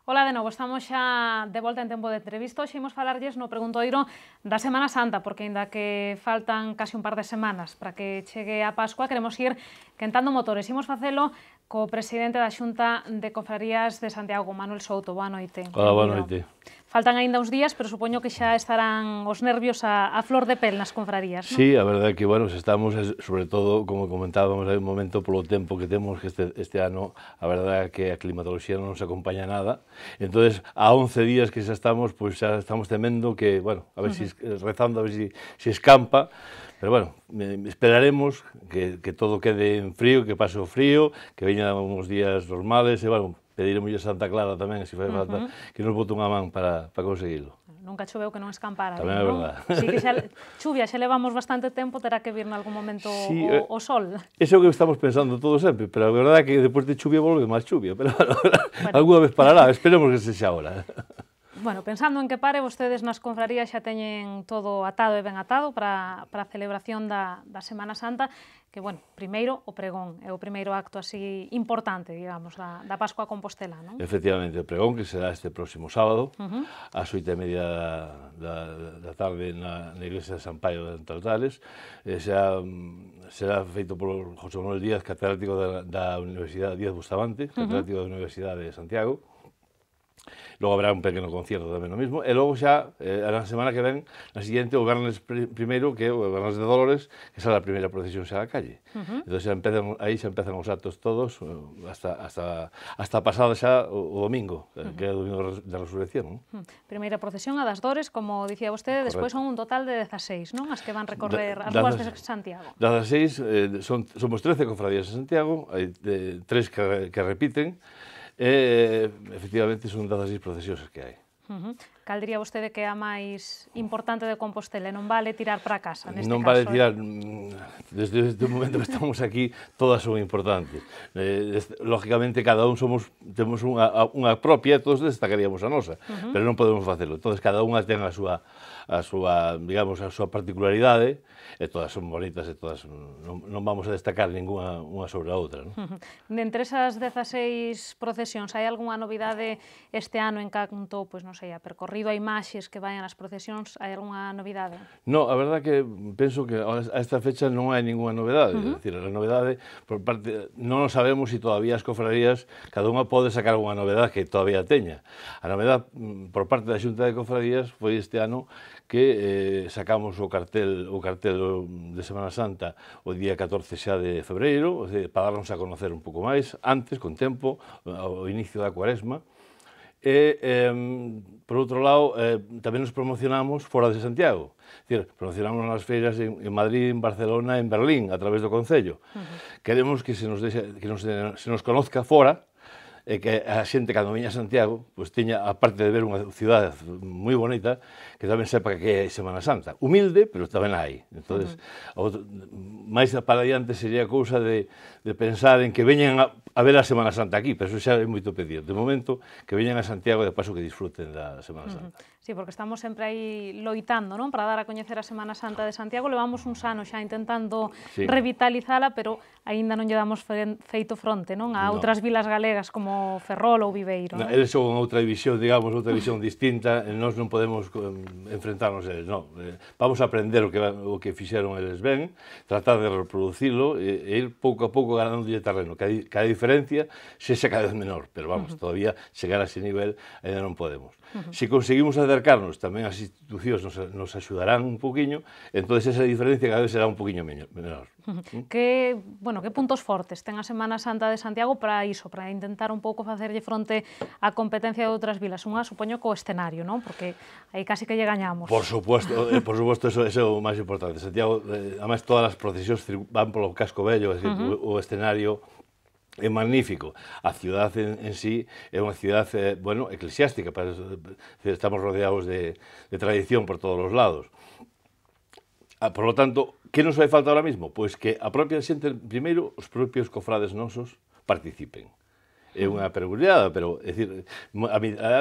Ola de novo, estamos xa de volta en tempo de entrevista. Hoxe imos falarlles no preguntoiro da Semana Santa, porque aínda que faltan casi un par de semanas para que chegue a Pascua, queremos ir quentando motores. Imos facelo co presidente da Xunta de Cofradías de Santiago, Manuel Souto. Boa noite. Hola, boa noite. Faltan aínda uns días, pero supoño que xa estarán os nervios a flor de pel nas confrarías, non? Sí, a verdade é que, bueno, estamos, sobre todo, como comentábamos hai un momento, polo tempo que temos que este ano, a verdade é que a climatoloxía non nos acompaña nada. Entonces, a 11 días que xa estamos, pois xa estamos temendo que, bueno, a ver rezando, a ver si escampa. Pero, bueno, esperaremos que todo quede en frío, que pase o frío, que veñan uns días normales, e, bueno, pediremos a Santa Clara tamén, se fai falta, que nos bote unha man para conseguilo. Nunca choveu que non escampara. Tamén é verdade. Si que xa chuvia, xa levamos bastante tempo, terá que vir nalgún momento o sol. Eso é o que estamos pensando todos sempre, pero a verdade é que depois de chuvia volve máis chuvia, pero alguna vez parará, esperemos que sexa ahora. Bueno, pensando en que pare, vostedes nas confrarías xa teñen todo atado e ben atado para a celebración da Semana Santa, que, bueno, primeiro o pregón, é o primeiro acto así importante, digamos, da Pascua a Compostela, non? Efectivamente, o pregón, que será este próximo sábado, ás 8:30 da tarde na iglesia de San Paio de Entaltales, será feito por José Manuel Díaz, catedrático da Universidade Díaz Bustamante, catedrático da Universidade de Santiago. Logo habrá un pequeno concierto tamén o mismo, e logo xa, a semana que ven, na siguiente, o Viernes primeiro, que é o Viernes de Dolores, que será a primeira procesión xa da calle. Entón aí xa empezan os actos todos, hasta pasado xa o domingo, que é o domingo da Resurrección. Primeira procesión a das Dores, como dicía vostede, despois son un total de 16, non? As que van recorrer as ruas de Santiago. 16, somos 13 cofradías en Santiago, hai 3 que repiten, e, efectivamente, son 16 procesións que hai. Cal diría vostede que é a máis importante de Compostela? Non vale tirar para casa, neste caso? Non vale tirar, desde o momento que estamos aquí, todas son importantes. Lógicamente, cada un temos unha propia, todos destacaríamos a nosa, pero non podemos facelo. Entón, cada unha ten a súa, digamos, a súa particularidade, e todas son bonitas, e todas non vamos a destacar ninguna unha sobre a outra. Entre esas 16 procesións, hai algunha novidade este ano en canto, pois non sei, a percorrido, a imaxes que vayan as procesións, hai algunha novidade? No, a verdade que penso que a esta fecha non hai ninguna novidade. É dicir, a novidade, por parte, non sabemos se todavía as cofradías, cada unha pode sacar unha novedade que todavía teña. A novedade, por parte da Xunta de Cofradías, foi este ano que sacamos o cartel de Semana Santa o día 14 xa de febreiro, para darnos a conocer un pouco máis, antes, con tempo, ao inicio da Cuaresma. E, por outro lado, tamén nos promocionamos fora de Santiago. É dicir, promocionamos nas feiras en Madrid, en Barcelona, en Berlín, a través do Concello. Queremos que se nos conozca fora, e que a xente, cando veña a Santiago, pois teña, aparte de ver unha cidade moi bonita, que tamén sepa que é Semana Santa. Humilde, pero tamén hai. Entón, máis para adiante sería cousa de pensar en que veñan a ver a Semana Santa aquí, pero eso xa é moito pedir. De momento, que veñan a Santiago e de paso que disfruten da Semana Santa. Sí, porque estamos sempre aí loitando, non? Para dar a coñecer a Semana Santa de Santiago. Levamos uns anos xa intentando revitalizala, pero aínda non lle damos feito fronte, non? A outras vilas galegas como Ferrol ou Viveiro. Eles son outra visión, digamos, outra visión distinta, e nós non podemos enfrentarnos a eles, non. Vamos a aprender o que fixeron eles ben, tratar de reproducilo e ir pouco a pouco ganándolle terreno, que a diferencia sexa cada vez menor, pero vamos, todavía chegar a ese nivel ainda non podemos. Se conseguimos acercarnos, tamén as institucións nos axudarán un poquinho, entón esa diferencia cada vez será un poquinho menor. Que puntos fortes ten a Semana Santa de Santiago para iso, para intentar un pouco facerlle fronte á competencia de outras vilas? Unha, supoño, co escenario, non? Porque aí casi que lle gañamos. Por suposto, eso é o máis importante. Santiago, además, todas as procesións van polo casco vello, é dicir, o escenario é magnífico. A cidade en sí é unha cidade, bueno, eclesiástica, estamos rodeados de tradición por todos os lados. Por lo tanto, que nos vai falta ahora mismo? Pois que a propia xente, primeiro, os propios cofrades nosos participen. é unha peculiaridade, pero, é dicir,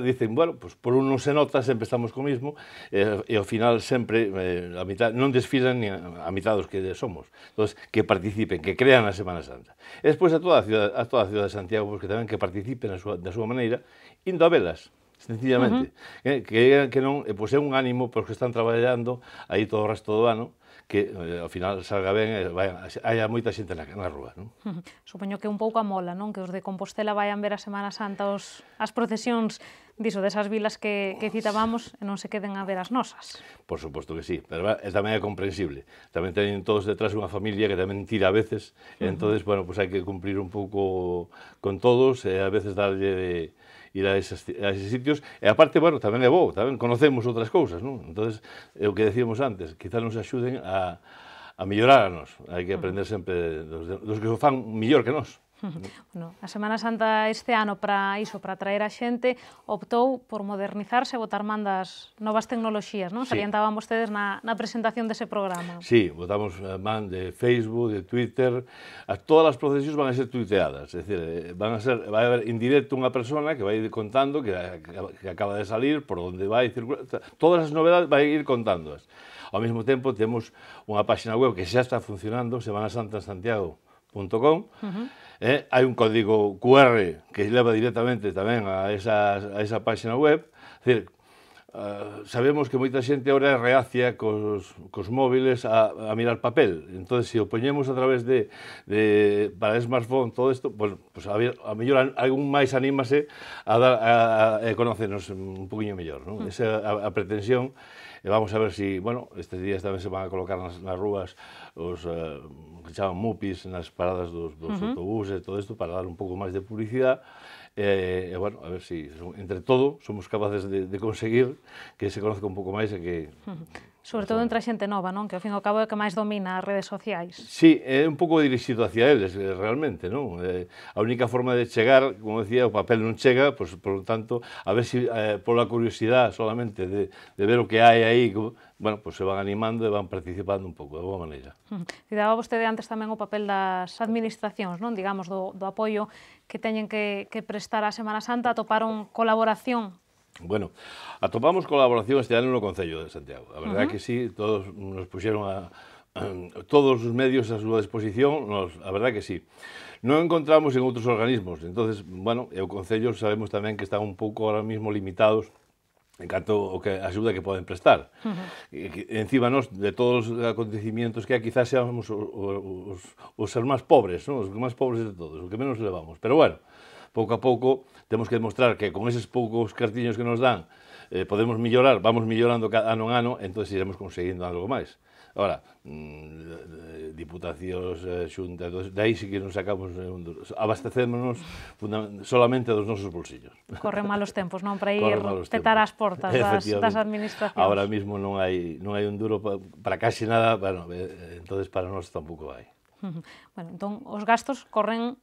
dicen, bueno, pues, por un non se nota, sempre estamos co mismo, e ao final sempre, a mitad, non desfilan ni a mitad dos que somos. Entón, que participen, que crean a Semana Santa. E despois a toda a cidade de Santiago, pues, que tamén que participen da súa maneira, indo a velas, sencillamente. Que non, pois é un ánimo para os que están traballando aí todo o resto do ano, que ao final salga ben e haya moita xente na rúa. Non? Supoño que un pouco a mola, non? Que os de Compostela vayan ver a Semana Santa as procesións desas vilas que citábamos e non se queden a ver as nosas. Por suposto que sí, pero tamén é comprensible. Tamén teñen todos detrás unha familia que tamén tira a veces, e entonces, bueno, pues hai que cumplir un pouco con todos e a veces darlle ir a eses sitios, e aparte, bueno, tamén é bo, tamén conocemos outras cousas, non? Entonces, é o que decíamos antes, quizás nos axuden a mellorar a nós. Hai que aprender sempre dos que o fan mellor que nós. Bueno, a Semana Santa este ano para atraer a xente, optou por modernizarse e botar man das novas tecnoloxías, non? Salientaban vostedes na presentación dese programa. Sí, botamos man de Facebook, de Twitter, todas as procesións van a ser tuiteadas, é dicir, vai haber en directo unha persona que vai ir contando que acaba de salir, por onde vai circular, todas as novedades vai ir contándoas. Ao mesmo tempo, temos unha página web que xa está funcionando, semanasantasantiago.com, hai un código QR que leva directamente tamén a esa página web. É dicir, sabemos que moita xente agora é reacia cos móviles a mirar papel. Entón, se o poñemos a través para el smartphone, todo isto, pues a mellor algún máis anímase a conocernos un poquinho mellor. Esa é a pretensión. E vamos a ver se, bueno, estes días tamén se van a colocar nas rúas os que chaman mupis nas paradas dos autobuses e todo isto para dar un pouco máis de publicidade. E, bueno, a ver se entre todo somos capaces de conseguir que se conozca un pouco máis e que... Sobre todo entre a xente nova, non? Que ao fin e ao cabo é que máis domina as redes sociais. Sí, é un pouco dirixido hacia eles, realmente, non? A única forma de chegar, como decía, o papel non chega, pois, por lo tanto, a ver se pola curiosidade solamente de ver o que hai aí, bueno, pois se van animando e van participando un pouco, de boa maneira. Citaba vostede antes tamén o papel das administracións, non? Digamos, do apoio que teñen que prestar á Semana Santa, atoparon colaboración. Bueno, atopamos colaboración este ano no Concello de Santiago. A verdade que sí, todos nos puxeron todos os medios a súa disposición, a verdade que sí. Non encontramos en outros organismos, entonces, bueno, e o Concello sabemos tamén que están un pouco ahora mismo limitados en canto a axuda que poden prestar. Encima nos, de todos os acontecimientos que hai, quizás seamos os ser máis pobres, os máis pobres de todos, os que menos levamos. Pero bueno, pouco a pouco temos que demostrar que con eses poucos cartiños que nos dan podemos mellorar, vamos mellorando ano en ano, entón iremos conseguindo algo máis. Ahora, diputacións, xuntas, de aí sí que nos sacamos, abastecémonos solamente dos nosos bolsillos. Corren malos tempos, non? Para ir petar as portas das administracións. Ahora mismo non hai un duro para casi nada, bueno, entonces para nós tampouco hai. Bueno, entón, os gastos corren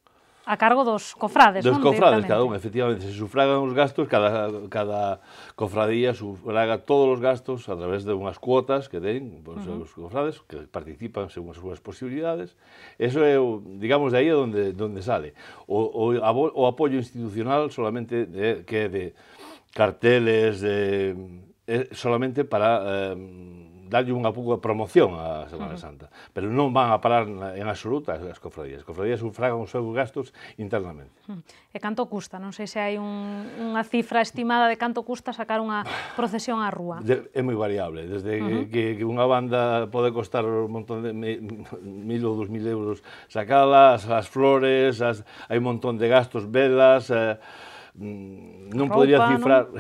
a cargo dos cofrades, non? Dos cofrades, cada un, efectivamente. Se sufragan os gastos, cada cofradía sufraga todos os gastos a través de unhas cuotas que den os cofrades, que participan según as súas posibilidades. Eso é, digamos, de aí onde sale. O apoio institucional solamente que é de carteles, solamente para darlle unha pouco de promoción á Semana Santa, pero non van a parar en absoluta as cofradías. As cofradías sufragan os seus gastos internamente. E canto custa? Non sei se hai unha cifra estimada de canto custa sacar unha procesión á rúa. É moi variable, desde que unha banda pode costar un montón de 1.000 ou 2.000 euros sacala, as flores, hai un montón de gastos, velas, non podría cifrar,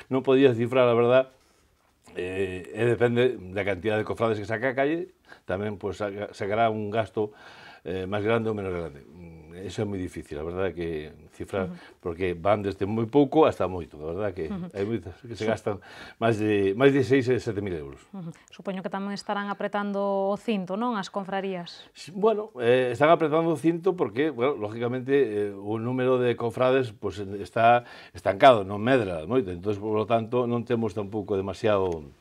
non podría cifrar, a verdad. Depende da cantidad de cofrades que saca a calle, tamén pues, sacará un gasto máis grande ou menos grande. Eso é moi difícil, a verdade que cifrar, porque van desde moi pouco hasta moito, a verdade que hai moitas que se gastan máis de 6 e 7.000 euros. Supoño que tamén estarán apretando o cinto, non, as confrarías? Bueno, están apretando o cinto porque, bueno, lógicamente, o número de cofrades pues, está estancado, non medra moito, entón, por lo tanto, non temos tampouco demasiado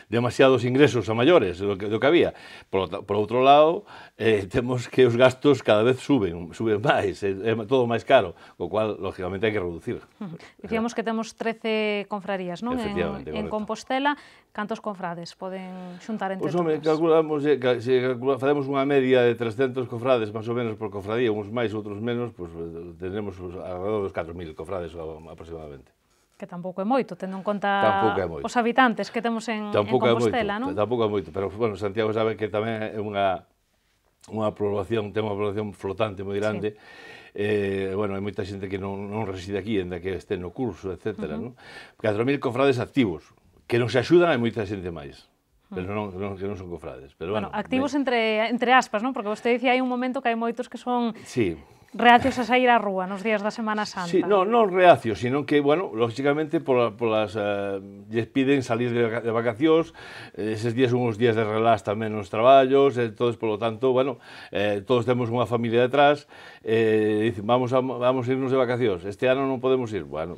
demasiados ingresos a maiores do que había. Por outro lado, temos que os gastos cada vez suben máis, é todo máis caro, o cual, lógicamente, hai que reducir. Dicíamos que temos 13 confrarías, non? En Compostela, cantos confrades poden xuntar entre todas? Calculamos, se facemos unha media de 300 confrades, máis ou menos, por confradía, uns máis, outros menos, tenemos alrededor dos 4.000 confrades aproximadamente. Que tampouco é moito, tendo en conta os habitantes que temos en Compostela, non? Tampouco é moito, pero, bueno, Santiago sabe que tamén é unha población, ten unha población flotante moi grande. Bueno, hai moita xente que non reside aquí, ainda que este no curso, etc. 4.000 confrades activos, que nos axudan a moita xente máis, pero que non son confrades. Bueno, activos entre aspas, non? Porque vostede dicía hai un momento que hai moitos que son... Sí. Reacios a sair á rúa nos días da Semana Santa. Sí, non reacios, sino que, bueno, lógicamente, lles piden salir de vacacións, eses días son uns días de relax tamén nos traballos, entonces, polo tanto, bueno, todos temos unha familia detrás, dicen, vamos a irnos de vacacións, este ano non podemos ir, bueno,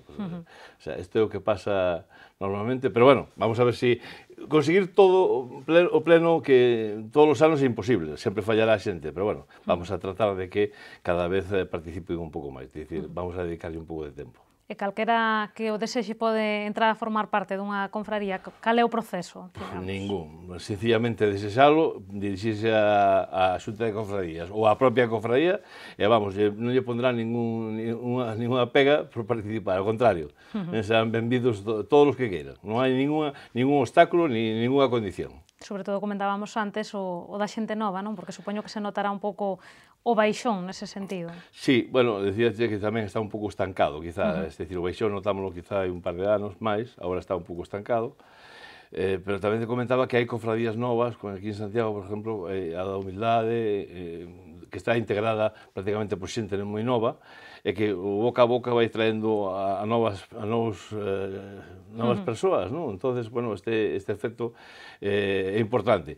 isto é o que pasa normalmente, pero bueno, vamos a ver si conseguir todo o pleno que todos os anos é imposible, sempre fallará a xente, pero bueno, vamos a tratar de que cada vez participen un pouco máis, é dicir, vamos a dedicarlle un pouco de tempo. E calquera que o desexe pode entrar a formar parte dunha confraría, cal é o proceso? Ningún, sencillamente desexalo, dirixirse á Xunta de Confrarías ou á propia confraría e vamos, non lle pondrá ninguna pega por participar, ao contrario, serán benvidos todos os que queiran, non hai ningún obstáculo ni ninguna condición. Sobre todo comentábamos antes o da xente nova, non? Porque supoño que se notará un pouco o baixón nese sentido. Sí, bueno, decíaste que tamén está un pouco estancado, quizá, é dicir, o baixón notámoslo quizá hai un par de anos máis, agora está un pouco estancado, pero tamén te comentaba que hai confradías novas, como aquí en Santiago, por exemplo, a da Humildade, que está integrada prácticamente por xente moi nova, e que o boca a boca vai traendo a novas persoas, non? Entonces, bueno, este efecto é importante.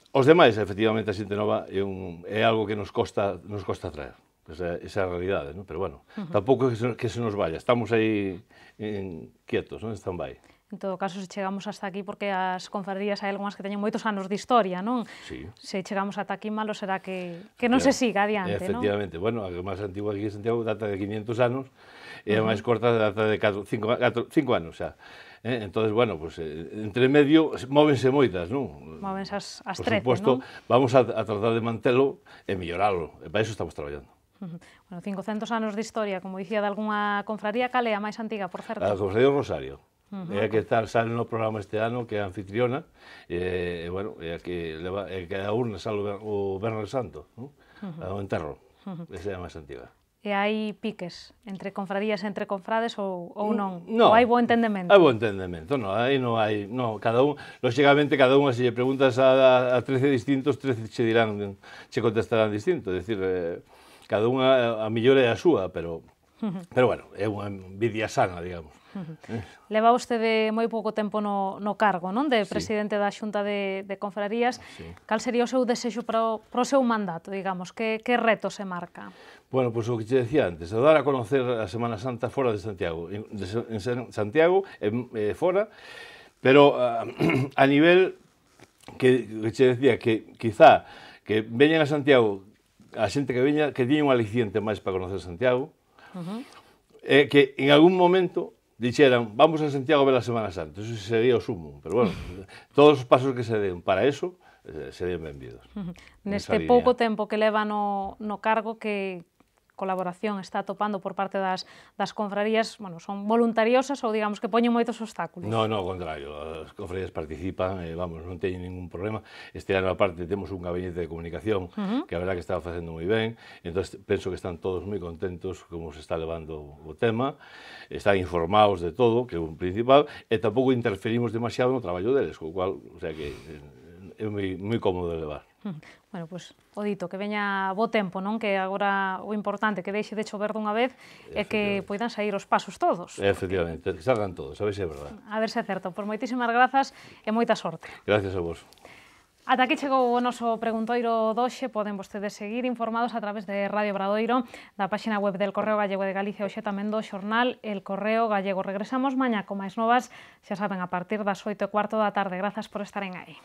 Os demais, efectivamente, a xente nova é algo que nos costa traer, esa é a realidade, non? Pero, bueno, tampouco que se nos vaya, estamos aí quietos, non? Stand-by. En todo caso, se chegamos hasta aquí, porque as confrarías hai algunhas que teñen moitos anos de historia, non? Sí. Se chegamos ata aquí, malo será que non se siga adiante, non? Efectivamente. Bueno, a máis antigua aquí en Santiago data de 500 anos, e a máis corta data de 5 anos xa. Entón, bueno, entre medio móvense moitas, non? Móvense as 13, non? Por suposto, vamos a tratar de mantelo e melloralo, e para iso estamos traballando. Bueno, 500 anos de historia, como dicía, de algunha confraría, cal é a máis antiga, por certo? A confraría do Rosario. É a que sale no programa este ano, que é a anfitriona, e, bueno, é a que a urna sale o Viernes Santo, o enterro, esa é a máis antiga. E hai piques entre confrarías e entre confrades ou non? Non. Ou hai bo entendemento? Hai bo entendemento, non, aí non hai, cada un, lógicamente, cada unha, se lle preguntas a 13 distintos, 13 che contestarán distinto, é dicir, cada unha a mellor é a súa, pero bueno, é unha envidia sana, digamos. Leva vostede moi pouco tempo no cargo, non? De presidente da Xunta de Confrarías. Cal sería o seu desexo para o seu mandato, digamos? Que reto se marca? Bueno, pois o que te decía antes, dar a conocer a Semana Santa fora de Santiago, en Santiago e fora, pero a nivel que te decía que quizá que veñan a Santiago a xente que veña, que tiña un aliciente máis para conocer Santiago, que en algún momento dixeran, vamos a Santiago a ver a Semana Santa, eso sería o sumo, pero bueno, todos os pasos que se den para eso serían benvidos. Neste pouco tempo que leva no cargo, que colaboración está atopando por parte das confrarías, bueno, son voluntariosas ou digamos que poñen moitos obstáculos? Non, ao contrario, as confrarías participan, vamos, non teñen ningún problema. Este ano, aparte, temos un gabinete de comunicación que a verdad que está facendo moi ben, entón penso que están todos moi contentos como se está levando o tema, están informados de todo, que é un principal, e tampouco interferimos demasiado no traballo deles, co cual, o sea que é moi cómodo de levar. Bueno, pois, o dito, que veña bo tempo, non? Que agora o importante que deixe de chover dunha vez é que poidan sair os pasos todos. Efectivamente, que salgan todos, a ver se é verdade. A ver se é certo. Por moitísimas grazas e moita sorte. Gracias a vos. Ata aquí chegou o noso preguntoiro doxe. Poden vostedes seguir informados a través de Radio Obradoiro, da páxina web del Correo Gallego de Galicia, hoxe tamén do xornal El Correo Gallego. Regresamos mañá con máis novas, xa saben, a partir das 8:15 da tarde. Grazas por estaren aí.